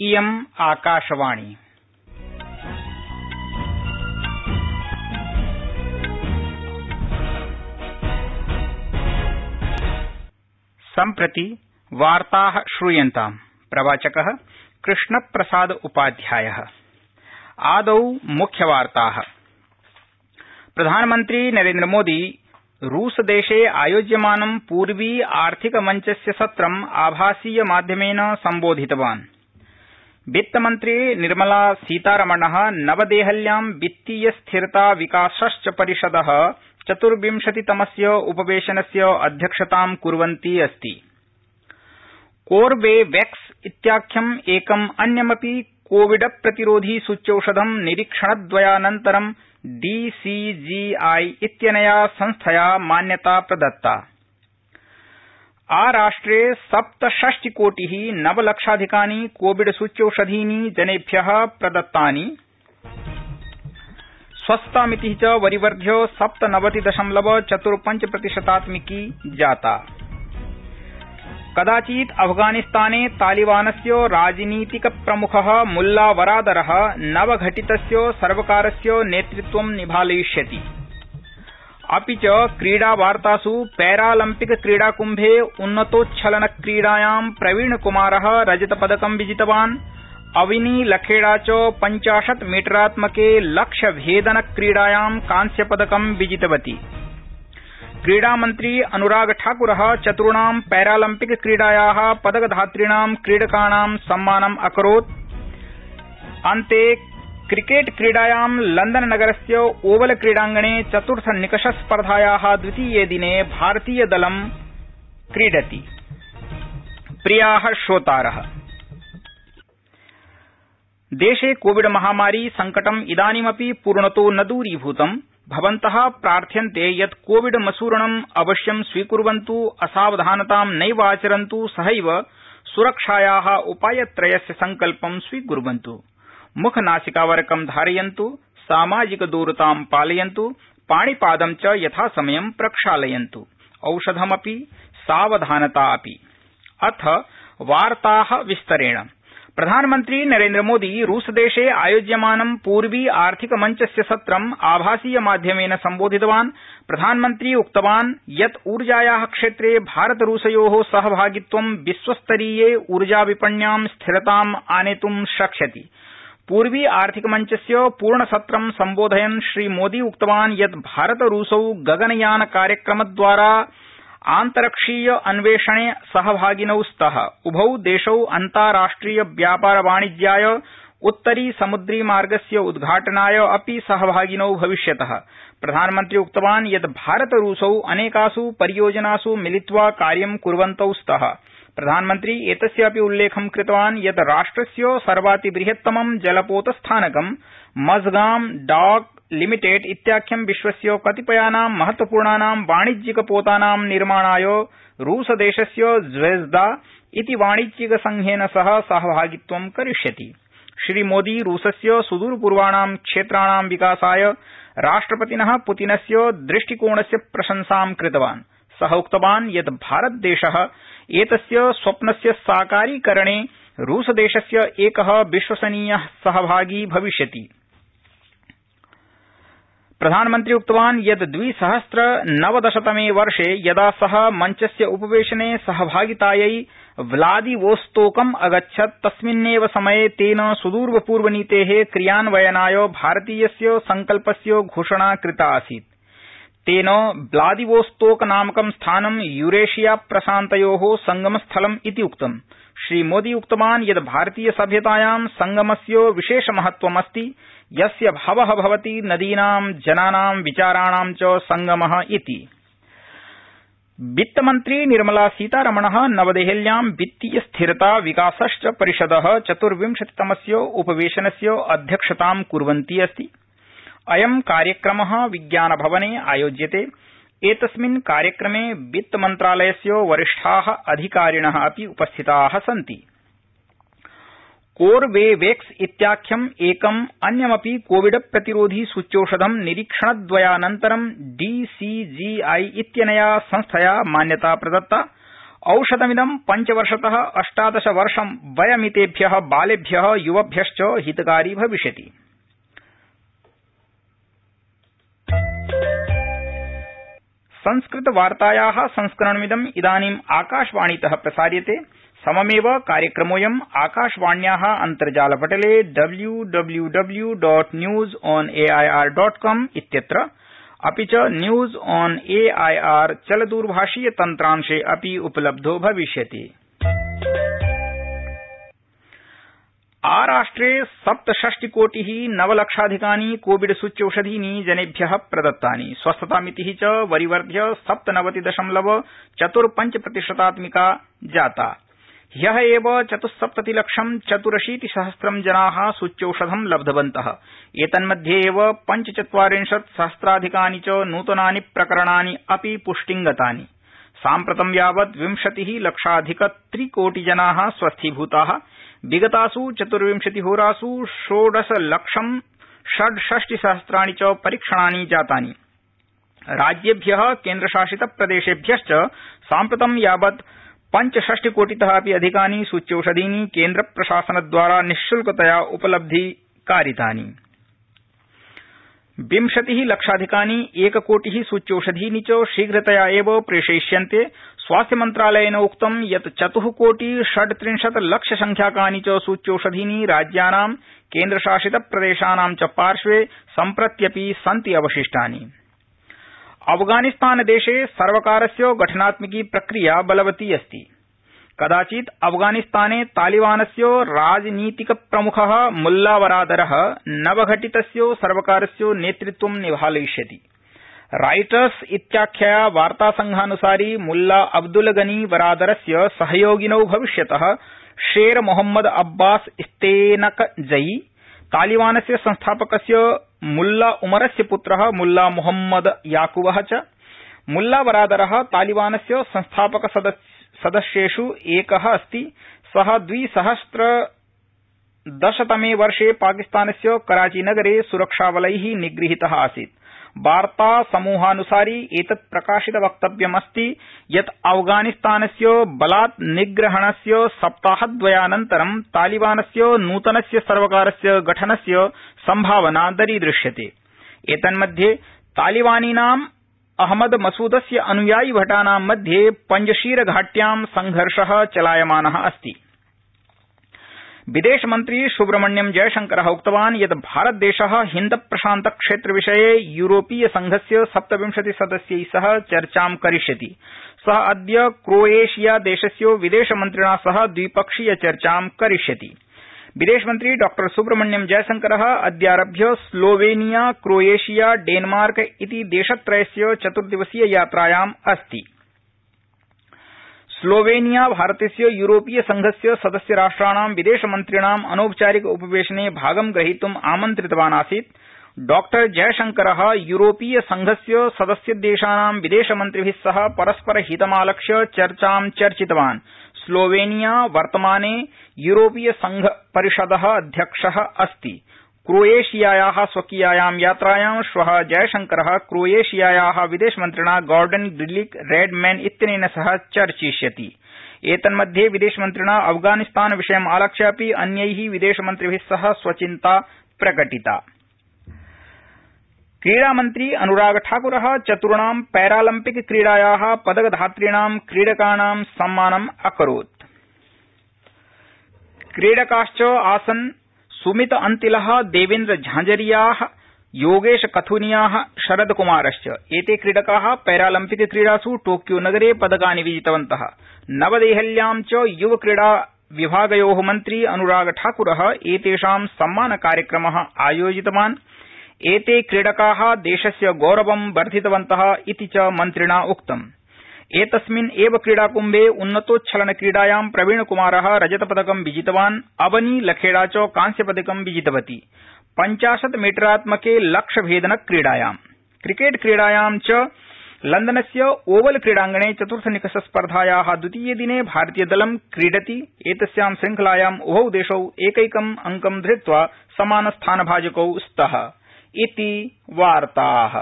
इयम् आकाशवाणी। सम्प्रति वार्ताः श्रूयन्ताम्। प्रवाचकः कृष्णप्रसाद उपाध्यायः। आदौ मुख्यवार्ताः। प्रधानमन्त्री नरेन्द्रमोदी रूसदेशे आयोज्यमानं पूर्वी आर्थिक मञ्चस्य सत्रम् आभासीय माध्यमेन सम्बोधितवान्। वित्तमन्त्री निर्मला सीतारमणः नवदेहल्यां वित्तीय स्थिरता विकासश्च परिषदः 24तमस्य उपवेशनस्य अध्यक्षतां कुर्वन्ती अस्ति। कोर्बेवैक्स इत्याख्यम् एकम् अन्यमपि कोविड प्रतिरोधी सूच्यौषधं निरीक्षणद्वयानन्तरं DCGI इत्यनया संस्थया मान्यता प्रदत्ता। आराष्ट्रे 67 कोटिः 9 लक्षाधिकानि कोविड सूच्यौषधीनि जनेभ्यः प्रदत्तानि। स्वस्थतामितिः च वरिवर्ध्य 97.45% जाता। कदाचित् अफगानिस्ताने तालिबानस्य राजनीतिक प्रमुखः मुल्ला वरादरः नवघटितस्य सर्वकारस्य नेतृत्वं निभालयिष्यति। अपि च क्रीडावार्तासु पैरालम्पिक क्रीडाकुम्भे उन्नतोच्छलन क्रीडायां प्रवीणकुमारः रजतपदकं विजितवान्। अविनी लखेड़ा च 50 मीटरात्मके लक्ष्यभेदन क्रीडायां कांस्यपदकं विजितवती। क्रीडामन्त्री अनुराग ठाकुरः चतुर्णां पैरालम्पिक क्रीडायाः पदकधात्रीणां क्रीडकाणां सम्मानम् अकरोत्। अन्ते क्रिकेट क्रीडायां लंदननगरस्य ओवल क्रीडांगणे चतुर्थ निकषस्पर्धायाः द्वितीये दिने भारतीयदलं क्रीडति। प्रियाः श्रोतारः, देशे कोविड महामारी संकटम् इदानीमपि पूर्णतो न दूरीभूतम्। भवन्तः प्रार्थ्यन्ते यत् कोविड मसूरणम् अवश्यं स्वीकुर्वन्तु, असावधानतां नैव आचरन्तु, सहैव सुरक्षायाः उपायत्रयस्य संकल्पं स्वीकुर्वन्तु। मुखनासिकावरकं धारयन्तु, सामाजिकदूरतां पालयन्तु, पाणिपादं च यथासमयं प्रक्षालयन्तु। औषधमपि सावधानता अपि। अथ वार्ताः विस्तरेण। प्रधानमन्त्री नरेन्द्रमोदी रूसदेशे आयोज्यमानं पूर्वी आर्थिक मञ्चस्य सत्रम् आभासीय माध्यमेन सम्बोधितवान्। प्रधानमन्त्री उक्तवान् यत् ऊर्जायाः क्षेत्रे भारतरूसयोः सहभागित्वं विश्वस्तरीये ऊर्जाविपण्यां स्थिरताम् आनेतुं शक्ष्यति। पूर्वी आर्थिक मञ्चस्य पूर्णसत्रं सम्बोधयन् श्रीमोदी उक्तवान् यत् भारतरूसौ गगनयान कार्यक्रमद्वारा आन्तरिक्षीय अन्वेषणे सहभागिनौ स्तः। उभौ देशौ अन्ताराष्ट्रिय व्यापार वाणिज्याय उत्तरी समुद्री मार्गस्य उद्घाटनाय अपि सहभागिनौ भविष्यतः। प्रधानमन्त्री उक्तवान् यत् भारतरूसौ अनेकासु परियोजनासु मिलित्वा कार्यं कुर्वन्तौ स्तः। प्रधानमन्त्री एतस्य अपि उल्लेखं कृतवान् यत् राष्ट्रस्य सर्वातिबृहत्तमं जलपोतस्थानकं मझगाम डॉक लिमिटेड इत्याख्यं विश्वस्य कतिपयानां महत्वपूर्णानां वाणिज्यिकपोतानां निर्माणाय रूसदेशस्य ज्वेज्दा इति वाणिज्यिकसंघेन सह सहभागित्वं करिष्यति। श्रीमोदी रूसस्य सुदूरपूर्वाणां क्षेत्राणां विकासाय राष्ट्रपतिनः पुतिनस्य दृष्टिकोणस्य प्रशंसां कृतवान्। सः उक्तवान् यत् भारतदेशः एतस्य स्वप्नस्य साकारीकरणे रूसदेशस्य एकः विश्वसनीयः सहभागी भविष्यति। प्रधानमन्त्री उक्तवान् यत् 2019 वर्षे यदा सः मञ्चस्य उपवेशने सहभागितायै व्लादिवोस्तोकम् अगच्छत् तस्मिन्नेव समये तेन सुदूरपूर्वनीतेः क्रियान्वयनाय भारतीयस्य संकल्पस्य घोषणा कृता आसीत्। तेन व्लादिवोस्तोक नामकं स्थानं यूरेशिया प्रशान्तयोः संगमस्थलम् इति उक्तम्। श्रीमोदी उक्तवान् यत् भारतीय सभ्यतायां संगमस्य विशेषमहत्वमस्ति, यस्य भावः भवति नदीनां, जनानां, विचाराणां च संगमः इति। वित्तमन्त्री निर्मला सीतारमणः नवदेहल्यां वित्तीय स्थिरता विकासश्च परिषदः 24तमस्य उपवेशनस्य अध्यक्षतां कुर्वन्ती अस्ति। अयं कार्यक्रमः विज्ञानभवने आयोज्यते। एतस्मिन् कार्यक्रमे वित्तमन्त्रालयस्य वरिष्ठाः अधिकारिणः अपि उपस्थिताः सन्ति। कोर्बेवैक्स इत्याख्यम् एकम् अन्यमपि कोविड प्रतिरोधी सूच्यौषधं निरीक्षणद्वयानन्तरं DCGI इत्यनया संस्थया मान्यता प्रदत्ता। औषधमिदं 5 वर्षतः 18 वर्षं वयमितेभ्यः बालेभ्यः युवभ्यश्च हितकारी भविष्यति। संस्कृतवार्तायाः संस्करणमिदम् इदानीम् आकाशवाणीतः प्रसार्यते। सममेव कार्यक्रमोऽयम् आकाशवाण्याः अन्तर्जालपटले www.newsonair.com इत्यत्र अपि च न्यूज ऑन एआईआर चलदूरभाषीय तन्त्रांशे अपि उपलब्धो भविष्यति। आराष्ट्रे 67 नवलक्षाधिकानि कोविड सूच्यौषधीनि जनेभ्यः प्रदत्तानि। स्वस्थतामितिः च वरिवर्ध्य 97.45% जाता। ह्यः एव 74,84,000 जनाः सूच्यौषधं लब्धवन्तः। एतन्मध्ये एव 45,000,000 च नूतनानि प्रकरणानि अपि पुष्टिंगतानि। साम्प्रतं यावत् 20,00,000,000 जनाः स्वस्थीभूताः। विगतासु 24 होरासु 16,66,000 च परीक्षणानि जातानि। राज्येभ्यः केन्द्रशासितप्रदेशेभ्यश्च साम्प्रतं यावत् 65,00,00,000 अपि अधिकानि सूच्यौषधीनि केन्द्रप्रशासनद्वारा निःशुल्कतया उपलब्धीकारितानि। 20,00,000 1,00,00,000 सूच्यौषधीनि च शीघ्रतया एव प्रेषयिष्यन्ते। स्वास्थ्यमन्त्रालयेन उक्तं यत् 4,36,00,000 संख्याकानि च सूच्यौषधीनि राज्यानां केन्द्रशासितप्रदेशानां च पार्श्वे सम्प्रत्यपि सन्ति अवशिष्टानि। अफगानिस्तानदेशे सर्वकारस्य गठनात्मिकी प्रक्रिया बलवती अस्ति। कदाचित् अफगानिस्ताने तालिबानस्य राजनीतिकप्रमुखः मुल्लावरादरः नवघटितस्य सर्वकारस्य नेतृत्वं निभालयिष्यति। राइटर्स इत्याख्यया वार्तासंघानुसारि मुल्ला अब्दुल गनी वरादरस्य सहयोगिनौ भविष्यतः शेर मोहम्मद अब्बास इस्तेनकजई, तालिबानस्य संस्थापकस्य मुल्ला उमरस्य पुत्रः मुल्ला मोहम्मद याकूबः च। मुल्ला वरादरः तालिबानस्य संस्थापकसदस्येषु एकः अस्ति। सः 2010तमे वर्षे पाकिस्तानस्य कराचीनगरे सुरक्षाबलैः निगृहीतः आसीत्। वार्तासमूहानुसारि एतत् प्रकाशितवक्तव्यमस्ति यत् अफगानिस्तानस्य बलात् निग्रहणस्य सप्ताहद्वयानन्तरं तालिबानस्य नूतनस्य सर्वकारस्य गठनस्य सम्भावना दरीदृश्यते। एतन्मध्ये तालिबानिनां अहमद मसूदस्य अनुयायिभटानां मध्ये पंजशीर घाट्यां संघर्षः चलायमानः अस्ति। विदेशमन्त्री सुब्रह्मण्यम जयशंकरः उक्तवान् यत् भारतदेशः हिन्द प्रशान्त क्षेत्रविषये यूरोपीय संघस्य 27 सदस्यैः सह चर्चां करिष्यति। सः अद्य क्रोएशिया देशस्य विदेशमन्त्रिणा सह द्विपक्षीय चर्चां करिष्यति। विदेशमन्त्री डॉ सुब्रह्मण्यम जयशंकरः अद्यारभ्य स्लोवेनिया, क्रोएशिया, डेनमार्क इति देशत्रयस्य 4 दिवसीय यात्रायाम् अस्ति। स्लोवेनिया भारतस्य यूरोपीय संघस्य सदस्यराष्ट्राणां विदेशमन्त्रिणाम् अनौपचारिक उपवेशने भागं ग्रहीतुम् आमन्त्रितवान् आसीत्। डॉ जयशंकरः यूरोपीय संघस्य सदस्यदेशानां विदेशमन्त्रिभिः सह परस्पर हितमालक्ष्य चर्चां चर्चितवान्। स्लोवेनिया वर्तमाने यूरोपीय संघ परिषदः अध्यक्षः अस्ति। क्रोएशियायाः स्वकीयायां यात्रायां श्वः जयशंकरः क्रोएशियायाः विदेशमन्त्रिणा गॉर्डन ग्रिलिक रेडमैन इत्यनेन सह चर्चिष्यति। एतन्मध्ये विदेशमन्त्रिणा अफगानिस्तान विषयम् आलक्ष्य अपि अन्यैः विदेशमन्त्रिभिः सह स्वचिन्ता प्रकटिता। क्रीडामन्त्री अनुराग ठाकुरः 4 पैरालम्पिक क्रीडायाः पदकधात्रीणां क्रीडकाणां सम्मानम् अकरोत्। क्रीडकाश्च आसन् सुमित अंतिलः, देवेन्द्र झांझरियाः, योगेश कथुनियाः, शरद कुमारश्च। एते क्रीडकाः पैरालम्पिक क्रीडासु टोक्यो नगरे पदकानि विजितवन्तः। नवदेहल्यां च युवक्रीडा विभागयोः मन्त्री अनुराग ठाकुरः एतेषां सम्मानकार्यक्रमः आयोजितवान्। एते क्रीडकाः देशस्य गौरवं वर्धितवन्तः इति च मन्त्रिणा उक्तम्। एतस्मिन् एव क्रीडाकुम्भे उन्नतोच्छलनक्रीडायां प्रवीणकुमारः रजतपदकं विजितवान्। अवनी लखेड़ा च कांस्यपदकं विजितवती। 50 मीटरात्मके लक्ष्यभेदनक्रीडायां। क्रिकेट क्रीडायां च लंदनस्य ओवल क्रीडांगणे चतुर्थनिकषस्पर्धायाः द्वितीये दिने भारतीयदलं क्रीडति। एतस्यां श्रृंखलायाम् उभौ देशौ एकैकम् अंकं धृत्वा समानस्थानभाजकौ स्तः। इति वार्ताः।